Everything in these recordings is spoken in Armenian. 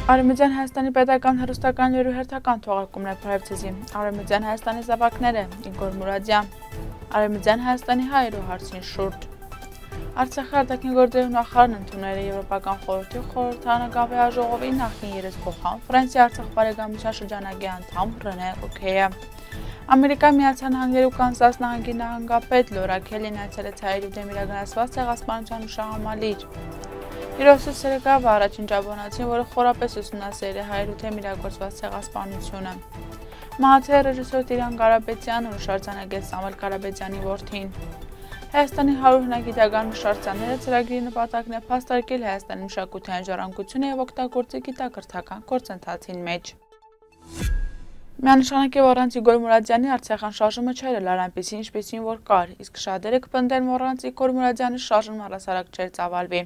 Արևմտյան Հայաստանի պետական հեռուստական լուրի հերթական թողարկումն է Փարեվցեզի։ Արևմտյան Հայաստանի զավակները Իգոր Մուրադյան։ Արևմտյան Հայաստանի հայերու հարցին շուրջ։ Արցախի արտաքին գործերի նախարարն ընդունել է Եվրոպական խորհրդի խորհրդարանական վեհաժողովի նախկին երեսփոխան Ֆրանսիա Արցախ բարեկամության շրջանագի անդամ Ռենե Օքեյը։ Ամերիկայի Միացյալ Նահանգների ու Կանսաս նահանգի նահանգապետ Լորա Քելին այցելեց հայերու դեմ իրականացված ցեղասպանության հուշահամալիր։ Իրոսս Սերգավ առաջին ճապոնացին, որը խորապես ուսումնասիրել է հայերու դեմ իրագործված ցեղասպանությունը։ Մահացել ռեժիսոր Տիրան Ղարաբեդյանը ու շարժանագետ Սամվել Ղարաբեդյանի որդին։ Հայաստանի 100 հնագիտական շարժանները ծրագրի նպատակն է փաստարկել Հայաստանի մշակութային ժառանգությունը եւ օգտագործել գիտակրթական գործընթացին մեջ։ Միանշանակ է, որ առանց Իգոր Մուրադյանի Արցախյան շարժումը չէր ելար այնպիսի, ինչպիսին որ կար, իսկ շատերը կպնդեն, որ առանց Իգոր Մուրադյանի շարժումը առհասարակ չէր ծավալվի։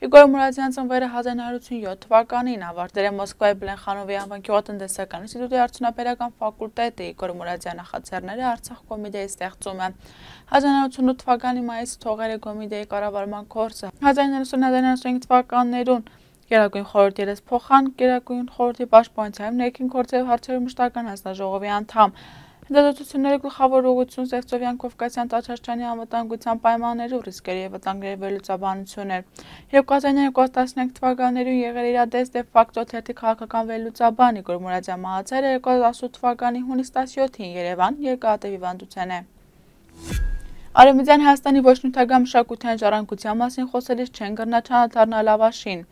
Իգոր Մուրադյանը ծնվել է 1987 թվականին, ավարտել է Մոսկվայի Բլենխանովի անվան գյուղատնտեսական ինստիտուտի արդյունաբերական ֆակուլտետը, Իգոր Մուրադյանի նախաձեռնել է Արցախ կոմիտեի ստեղծումը։ 1988 թվականի մայիսին թողել է կոմիտեի կառավարման գործը։ 1990-1995 թվականներուն Գերագույն խորհրդի երեսփոխան, Գերագույն խորհրդի պաշտպանության ներքին գործերի հարցերու մշտական հանձնաժողովի անդամ։ Հետազոտությունների գլխավոր ուղղությունը Սևծովյան Կովկասյան Տաճարչյանի անվտանգության պայմաններու ռիսկերի եւ վտանգների վերլուծաբանություն էր։ 2013 թվականներում եղել իրադես դե ֆակտո թերթի քաղաքական վերլուծաբան Իգոր Մուրադյան մահացել է 2018 թվականի հունիս 17-ին Երևան երկաթի հիվանդության է։ Արևմտյան Հայաստանի ոչ նյութական մշակութային ժառանգության մասին խոսելիս չեն կրնա չանդառնալ Լավաշին։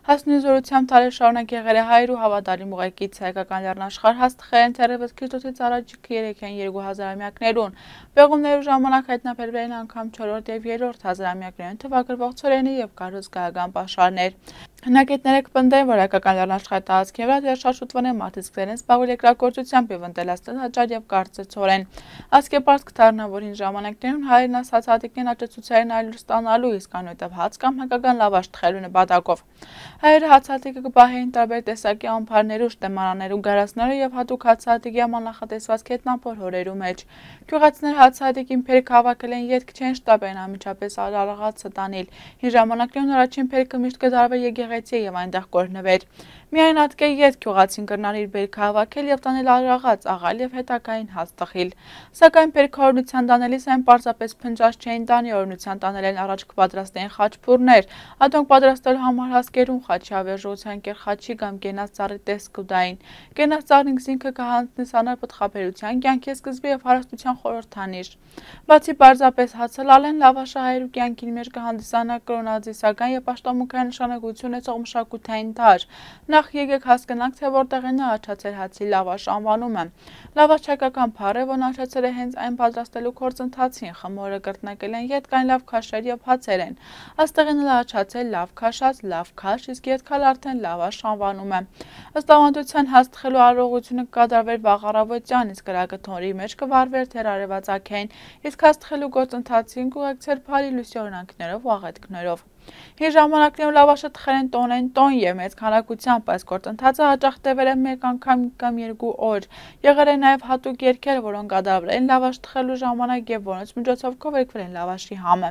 Հասնի զորությամբ տարի շարունակ եղել է հայերու հավատարիմ ուղեկից հայկական լեռնաշխարհ հաստղել են թերևս Քրիստոսից առաջ 3-2000 ամյակներուն։ Պեղումներու ժամանակ հայտնաբերվել են անգամ 4-րդ եւ 3-րդ հազարամյակներուն թվագրվող ցորենի եւ կառուցգայական պաշարներ։ Հնագետները կպնդեն, որ հայկական լեռնաշխարհի տարածքի վրա դերշաշուտվան են մարդիկ սկսել են զբաղվել երկրագործությամբ եւ ընտելացնել հաճար եւ կարծր ցորեն։ Ասկեպարտ կդառնա, որ հին ժամանակներում հայերն ասած հատիկներն աճեցուցային այլուր ստանալու, իսկ անօյտավ հաց կամ հայկական լավաշ թխելու նպատակով։ Հայերը հացահատիկը կպահեին տարբեր տեսակի ամփարներու, շտեմանաներու, գարացներու եւ հատուկ հացահատիկի համար նախատեսված քետնապոր հորերու մեջ։ Գյուղացիները հացահատիկին փերք հավաքել են ետք չեն շտապեն անմիջապես արարաղացը տանել։ Հին ժամանակներում առաջին փերքը միշտ կդարվեր եկեղեցի եւ այնտեղ կորնվեր։ Միայն ատկե յետ գյուղացին կրնար իր բերքը հավաքել եւ տանել արարաղաց, աղալ եւ հետակային հաց տխիլ։ Սակայն փերքը օրնության տանելիս այն պարզապես փնջած չէին տանի, օրնության տանել են առաջ կպատրաստեին խաչփուրներ, ադոնք պատրաստելու համար հասկերուն խաչի ավերժության կեր խաչի կամ կենաց ծառի տեսք կուտային։ Կենաց ծառին զինքը կհանձնի սանար պտղաբերության, կյանքի սկզբի եւ հարստության խորհրդանիշ։ Բացի պարզապես հացը լալեն լավաշը հայերու կյանքին մեջ կհանդիսանա կրոնազիսական եւ պաշտամունքային նշանակություն ունեցող մշակութային դար։ Նախ եկեք հասկանանք, թե որտեղ է առաջացել հացի լավաշ անվանումը։ Լավաշ հայկական բառ է, որն առաջացել է հենց այն պատրաստելու գործընթացին, խմորը կրտնեկել են ետքային լավ քաշեր եւ հացեր են։ Աստեղին առաջացել լավ քաշած, լավ քաշ, իսկ ետքալ արդեն լավաշ անվանում է։ Ըստ ավանդության հաց թխելու արարողությունը կկատարվեր վաղ առավոտյան, իսկ կրակաթոնրի մեջ կվարվեր թեր արևածագային, իսկ հաց թխելու գործընթացին կուղեկցեր բարի լույսի օրինակներով ու աղետքներով։ Հին ժամանակներում լավաշը թխել են տոն եւ մեծ քանակությամբ, այս գործընթացը հաճախ տևել է մեկ անգամ կամ 2 օր։ Եղել են նաեւ հատուկ երգեր, որոնք կատարվել են լավաշ թխելու ժամանակ եւ որոնց միջոցով կովերքվել են լավաշի համը։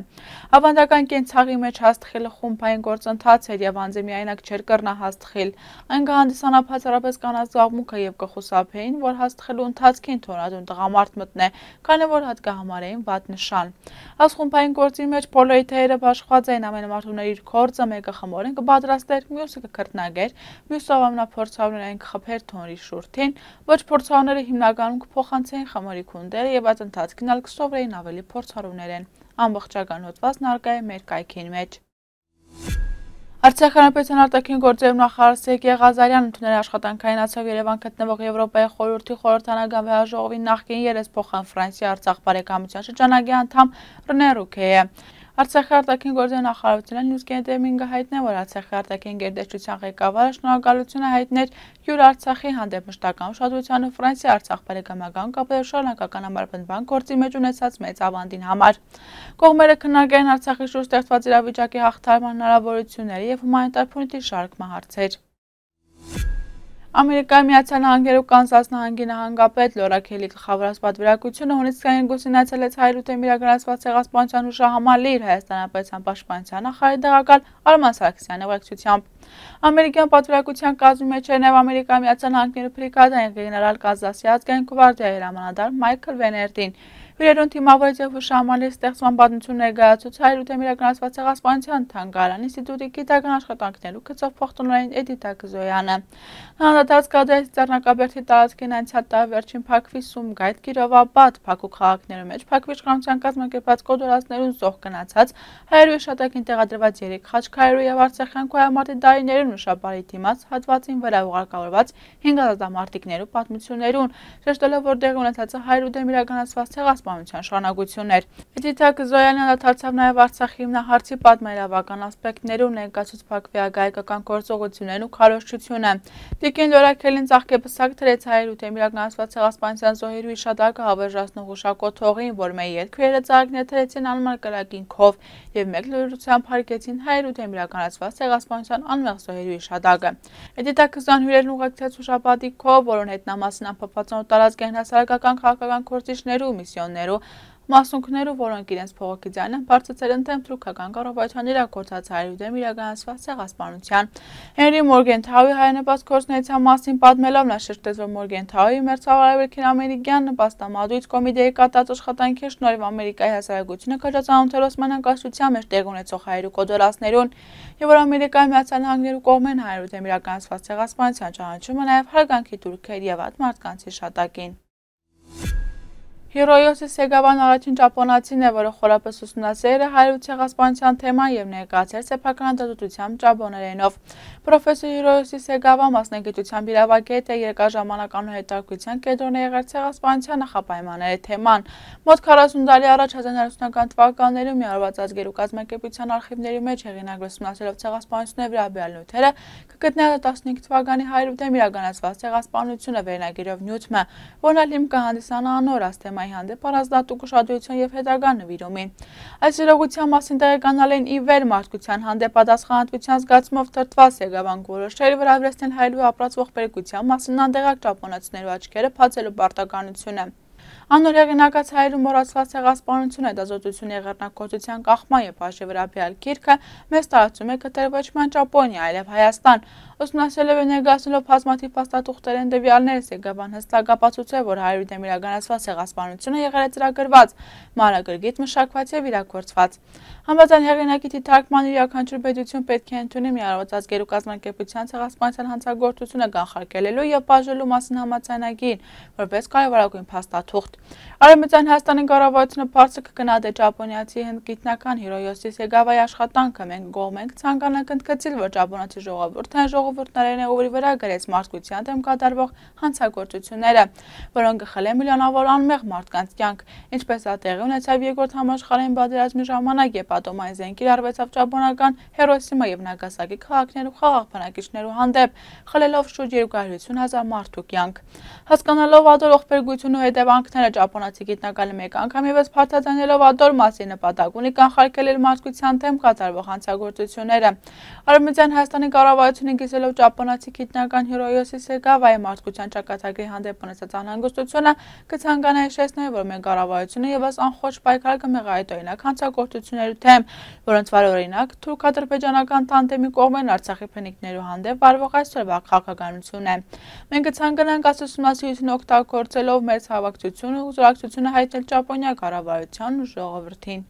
Ավանդական կենցաղի մեջ հաց թխելը խումբային գործընթաց էր եւ անձը միայնակ չէր կրնա հաց թխել։ Այն կհանդիսանա բացառապես կանանց զբաղմունքը եւ կխուսափեին, որ հաց թխելու ընթացքին թորադուն տղամարդ մտնե, քանի որ հատ կհամարեին վատ նշան։ Այս խումբային գործի մեջ բոլորի թեյերը բաշխված էին ամենամարտուների իր գործը մեկը խմորեն կպատրաստեր, մյուսը կքրտնագեր, մյուսը ամենափորձառուներին կխփեր թոնրի շուրթին, ոչ փորձառուները հիմնականում կփոխանցեին խմորի քունդերը եւ այդ ընթացքին ալ կսովորեին ավելի փորձառուներեն։ Ամբողջական հոդվածն արկա է մեր կայքին մեջ։ Արցախի հանրապետության արտաքին գործերի նախարար Սերգեյ Ղազարյանն ընդունել է աշխատանքային այցով Երևան գտնվող Եվրոպայի խորհրդի խորհրդարանական վեհաժողովի նախկին երեսփոխան Ֆրանսիա Արցախ բարեկամության շրջանագի անդամ Ռենե Օքեյը։ Արցախի արտաքին գործերի նախարարությունը նյուզ կենտրոնին հայտնել, որ Արցախի արտաքին գերտերչության ղեկավարը շնորհակալություն է հայտնել յուր Արցախի հանդեպ մշտական ուշադրությանը Ֆրանսիա Արցախ բարեկամական կապերի շարունակական համապնդման գործի մեջ ունեցած մեծ ավանդին համար։ Կողմերը քննարկել են Արցախի շուրջ ստեղծված իրավիճակի հաղթահարման հնարավորությունները եւ հումանիտար փոխանցի շարք հարցեր։ Ամերիկայի Միացյալ Նահանգներու Կանզաս նահանգի նահանգապետ Լորա Քելի գլխավորած պատվիրակությունը հունիսի 22-ին այցելեց Հայրութեմ իրականացված ցեղասպանության հուշահամալի իր Հայաստանապետության պաշտպանության նախարարի տեղակալ Արման Սարգսյանի ուղեկցությամբ։ Ամերիկյան պատվիրակության կազմի մեջ էր նաև Ամերիկայի Միացյալ Նահանգներու բրիգադային գեներալ Կանզասի ազգային գվարդիայի հրամանատար Մայքլ Վեներտին։ Հյուրերուն թիմավորեց եւ հուշահամալի ստեղծման պատմություն ներկայացուց Հայրութեմ իրականացված ցեղասպանության թանգարան ինստիտուտի գիտական աշխատանքներու գծով փոխտնօրեն Էդիտա Կզոյանը։ Հանդարտած կադրից Ծառնակաբերդի տարածքին անցյալ տարի վերջին Փակվի Սումգայիթ, Կիրովաբադ, Փակու քաղաքներու մեջ Փակվի իշխանության կազմակերպած կոդորածներուն զոհ գնացած հայերու շատակին տեղադրված 3 խաչքարերու եւ արցախյան քոյամարտի դարիներուն նշաբարի դիմաց հատվածին վրա ուղարկավորված 5 ազատամարտիկներու պատմություններուն, շեշտելով որ դեղի ունեցած Հայրութեմ իրականացված ցեղասպանության շարունակություններ։ Էդիտա Կզոյանը անդրադարձավ նաև Արցախի հիմնահարցի պատմայրավական ասպեկտներում ներկայացուց Փակվի ագայկական գործողություններն ու քարոզչությունը։ Տիկին Լորա Քելին ծաղկեպսակ դրեց Հայրութեմ իրականացված ցեղասպանության զոհերու հիշատակը հավերժացնող հուշակոթողին, որ մեր երկրները ծաղիկներ թրեցին անմար կրակին քով եւ մեկ լրությամբ հարգեցին Հայրութեմ իրականացված ցեղասպանության անմեղ զոհերու հիշատակը։ Էդիտա Կզոյան հյուրերն ուղեկցեց հուշապատի քով, որոնց հետնամասն ամփոփվածան ու տարածքային հասարակական քաղաքական գործիչներու միսիոններու մասունքներու, որոնք իրենց փողոքի ձայնը բարձրացրել են դեմ թուրքական կառավարության իրագործած Հայրութեմ իրականացված ցեղասպանության։ Հենրի Մորգենթաուի հայանպաստ գործունեության մասին պատմելով նա շեշտեց, որ Մորգենթաուի մերձավարարական ամերիկյան նպաստամատույց կոմիտեի կատարած աշխատանքի շնորհիվ Ամերիկայի հասարակությունը քաջացանոթել Օսմանյան կայսրության մեջ տեղի ունեցող հայերու կոդորածներուն եւ որ Ամերիկայի Միացյալ Նահանգներու կողմեն Հայրութեմ իրականացված ցեղասպանության ճանաչումը նաև հարգանքի տուրքեր եւ այդ մարդկանց հիշատակին։ Հիրոյոսի Սեգավան առաջին ճապոնացին է, որը խորապես ուսումնասիրել է հայերու ցեղասպանության թեման եւ ներկայացրել սեփական դատության ճապոներենով։ Պրոֆեսոր Հիրոյոսի Սեգավան մասնագիտությամբ իրավագետ է, երկար ժամանակ հետաքրքրության կենտրոն է եղել ցեղասպանության նախապայմանների թեման։ Մոտ 40 տարի առաջ 1990-ական թվականներում միավորված ազգերու կազմակերպության արխիվների մեջ հեղինակ ուսումնասիրելով ցեղասպանությունների վերաբերյալ նյութերը կգտնի 15 թվականի Հայրութեմ իրականացված ցեղասպանությունը վերնագիրով նյութը, որն հիմք կհանդիսանա անոր թեմայի հանդեպ առանձնատուկ ուշադրություն եւ հետագա նվիրումին։ Այս իրողության մասին տեղեկանալ են ի վեր մարդկության հանդեպ պատասխանատվության զգացումով թրթված Սեգավան որոշել վրա վերցնել հայերու ապրած ողբերգության մասին անդեղակ ճապոնացիներու աչքերը բացելու պարտականությունը։ Անոր հեղինակած հայերու մոռացված ցեղասպանությունը դասոտություն եղեռնակոծության կախման եւ հաշվի վերաբերյալ գիրքը մեծ տարածում է գտել ոչ միայն Ճապոնիա, այլև Հայաստան։ Ուսումնասիրելով եւ ներկայացնելով բազմաթիվ փաստաթուղթերեն տվյալներ Սեգավան հստակ ապացուցել, որ Հայրութեմ իրականացված ցեղասպանությունը եղել է ծրագրված, մանրագրգիծ մշակված եւ իրագործված։ Համաձայն հեղինակի թարգման յուրաքանչյուր պետություն պետք է ընդունի միավորված ազգերու կազմակերպության ցեղասպանության հանցագործությունը կանխարգելելու եւ բաժնելու մասին համաձայնագիր, որպես կարևորագույն փաստաթուղթ։ Արևմտյան Հայաստանի կառավարությունը բարձր կգնահատի ճապոնիացի գիտնական Հիրոյոսի Սեգավայի աշխատանքը։ Մենք գոհ ցանկանանք ընդգծել, որ ճապոնացի ժողովուրդն ժողովուրդներն է, ովի վրա գրեց մարդկության դեմ կատարվող հանցագործությունները, որոնք գխել են միլիոնավոր անմեղ մարդկանց կյանք, ինչպես դա տեղի ունեցավ երկրորդ համաշխարհային պատերազմի ժամանակ, երբ ատոմային զենք կիրառվեցավ ճապոնական Հիրոսիմա եւ Նագասակի քաղաքներու խաղաղ բնակիչներու հանդեպ, խլելով շուրջ 250,000 մարդու կյանք։ Հասկանալով ադոր ողբերգությունը հետևանքները ճապոնացի գիտնականը մեկ անգամ եւս փաթաթանելով ադոր մասի նպատակ ունի կանխարգելել մարդկության դեմ կատարվող հանցագործությունները։ Արևմտյան Հայաստանի կառավարությունը գիսելով ճապոնացի գիտնական Հիրոյոսի Սեգավայի մարդկության ճակատագրի հանդեպ ունեցած անհանգստությունը կցանկանա հիշեցնել, որ մեր կառավարությունը եւս անխոճ պայքար կմեղադրի օրինակ հանցագործությունների դեմ, որոնց վար օրինակ թուրք-ադրբեջանական տանդեմի կողմեն Արցախի բնիկներու հանդեպ վարվող այսօրվա քաղաքականությունն է։ Մենք կցանկանանք այս ուսումնասիրությունը օգտագործելով մեր հավաքչությունը ու զորակցությունը հայտնել Ճապոնիա կառավարության ու ժողովրդին։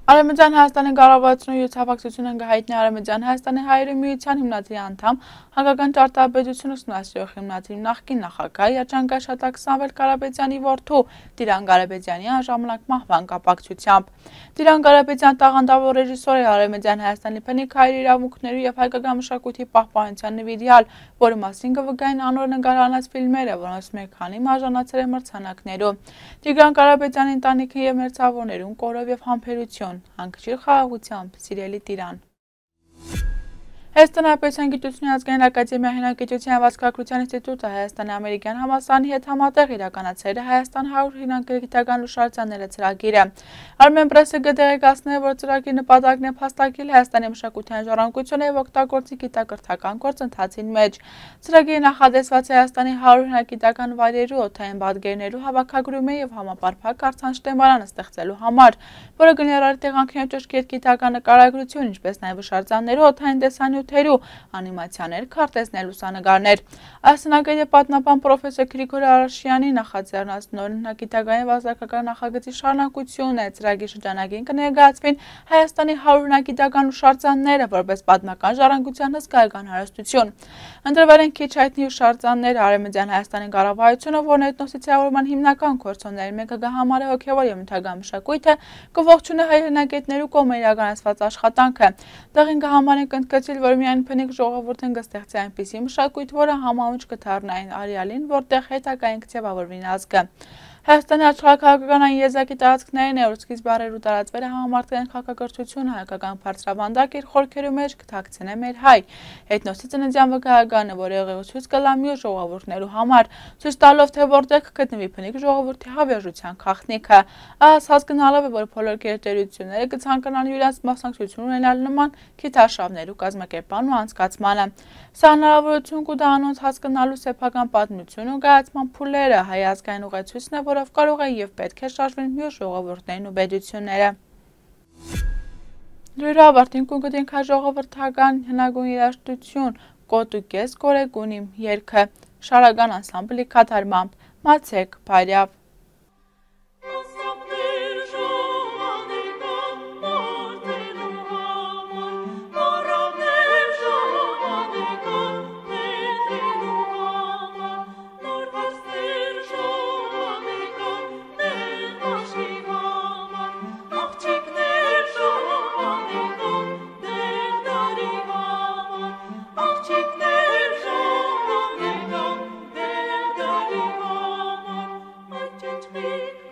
Արևմտյան Հայաստանի կառավարությունը իր հավաքչությունը կհայտնի Արևմտյան Հայաստանի հայերու միության հիմնադրամի անդամ Հակական ճարտարապետություն ուսումնասիրող հիմնադրամի նախկին նախագահ Երջանկա Շատակ Սամվել Կարապետյանի որդու Տիրան Կարապետյանի անժամանակ մահվան կապակցությամբ։ Տիրան Կարապետյան տաղանդավոր ռեժիսոր է Արևմտյան Հայաստանի բնիկ հայերի իրավունքների եւ հայկական մշակույթի պահպանության նվիրյալ, որի մասին կվկայեն անոր նկարահանած ֆիլմերը, որոնց մեկ քանի արժանացել են մրցանակներու։ Տիրան Կարապետյանի ընտանիքը եւ մերձավորներուն կորով եւ համբերություն, հանգչիր խաղաղությամբ, սիրելի Տիրան։ Հայաստանի Հանրապետության Գիտությունների ազգային ակադեմիայի հնագիտության և ազգագրության ինստիտուտը Հայաստանի ամերիկյան համալսարանի հետ համատեղ իրականացրել է Հայաստան 100 հնագիտական հուշարձանները ծրագիրը։ Armen Press-ը կտեղեկացնել է, որ ծրագրի նպատակն է փաստարկել Հայաստանի մշակութային ժառանգությունը և օգտագործի գիտակրթական գործընթացին մեջ։ Ծրագիրը նախադեсված է Հայաստանի 100 հնագիտական վայրերու, օդային պատկերներու հավաքագրումի և համապարփակ արձան շտեմարան ստեղծելու համար, որը կներառի տեղանքների ճշգրիտ գիտական նկարագրություն, ինչպես նաև հուշարձաններու օդային տեսանյութերու, անիմացիաներ, քարտեզներ, լուսանկարներ։ Ասնագետի պատմաբան պրոֆեսոր Գրիգոր Արաշյանի նախաձեռնած նոր հնագիտական և ազգագրական նախագծի շարունակությունն է ծրագրի շրջանակին կներկայացվին Հայաստանի 100 հնագիտական հուշարձանները որպես պատմական ժառանգության հսկայական հարստություն։ Ընտրվել են քիչ հայտնի հուշարձանները Արևմտյան Հայաստանի կառավարությունը, որն էթնոսիցիավորման հիմնական գործոններից մեկը կհամարի հոգևոր և նյութական մշակույթը, կողջունի հայ հնագետներու կողմից իրականացված աշխատանքը։ Տեղին կհամարեն կընդգծել, որ միայն բնիկ ժողովուրդն կստեղծի այնպիսի մշակույթ, որը համահունչ կդառնային արեալին, որտեղ հետագային կձևավորվի ազգը։ Հայաստանի աշխարհաքաղաքական այն եզակի տարածքներն է, որ սկիզբ առերու տարածվել է համամարտկային քաղաքակրթությունը, հայկական բարձրավանդակ իր խորքերու մեջ կթաքցնե մեր հայ էթնոսի ծննդյան վկայականը, որը եղեղեցույց կլա մյուս ժողովուրդներու համար, ցույց տալով, թե որտեղ կգտնվի բնիկ ժողովրդի հավերժության քաղաքնիքը։ Այս հասկանալով է, որ բոլոր գերտերությունները կցանկանան իրենց մասնակցություն ունենալ նման քիթարշավներու կազմակերպման ու անցկացմանը։ Սա հնարավորություն կտա անոնց հասկանալու սեփական պատմություն ու կայացման փուլերը, հայ ազգային ուղեցույցն է, որով կարող է և պետք է շարժվեն մյուս ժողովուրդներն ու պետությունները։ Դրույր ավարտին կունկտինք հայ ժողովրդական հնագույն երաժշտություն «Կոտ ու կես կորեգուն իմ» երգը շարական անսամբլի կատարմամբ։ Մացեք Փարյավ։ Speak.